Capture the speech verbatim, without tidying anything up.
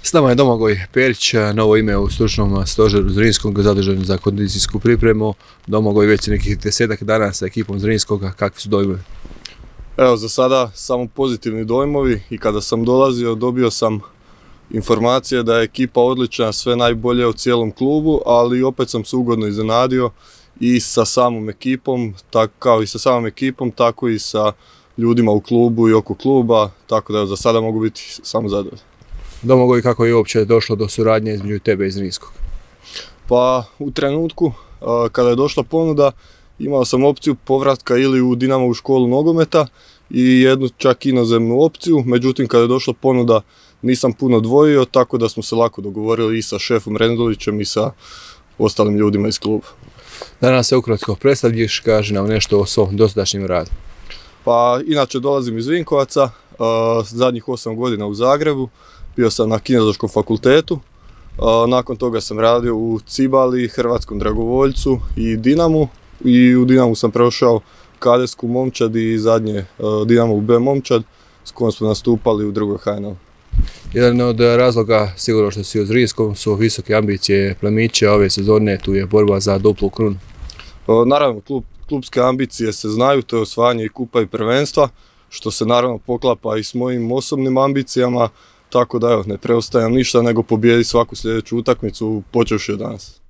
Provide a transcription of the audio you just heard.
S nama je Domagoj Perić, novo ime u stručnom stožeru Zrinskog, zadužen za kondicijsku pripremu. Domagoj, već nekih desetak dana sa ekipom Zrinskog, kakvi su dojmovi? Evo, za sada samo pozitivni dojmovi i kada sam dolazio dobio sam informacije da je ekipa odlična, sve najbolje u cijelom klubu, ali opet sam se ugodno iznenadio i sa samom ekipom, tako kao i sa samom ekipom, tako i sa ljudima u klubu i oko kluba, tako da za sada mogu biti samo zadovoljan. Domagoj, kako je uopće došlo do suradnje između tebe i Zrinskog? Pa u trenutku kada je došla ponuda imao sam opciju povratka ili u Dinamovu školu nogometa i jednu čak inozemnu opciju, međutim kada je došla ponuda nisam puno dvojio, tako da smo se lako dogovorili i sa šefom Rendulićem i sa ostalim ljudima iz kluba. Danas se ukratko predstavljiš, kaži nam nešto o svom dosadašnjem radu. Pa inače dolazim iz Vinkovaca, zadnjih osam godina u Zagrebu, bio sam na Kineziološkom fakultetu, nakon toga sam radio u Cibali, Hrvatskom dragovoljcu i Dinamu i u Dinamu sam prošao kadetsku momčad i zadnje Dinamovu B momčad s kojom smo nastupali u drugoj H N L. Jedan od razloga, sigurno što si u Zrinskom, su visoke ambicije plemića ove sezone, tu je borba za duplu krunu. Naravno, klub, klubske ambicije se znaju, to je osvajanje i kupa i prvenstva, što se naravno poklapa i s mojim osobnim ambicijama, tako da evo, ne preostajem ništa nego pobijediti svaku sljedeću utakmicu, počevši od danas.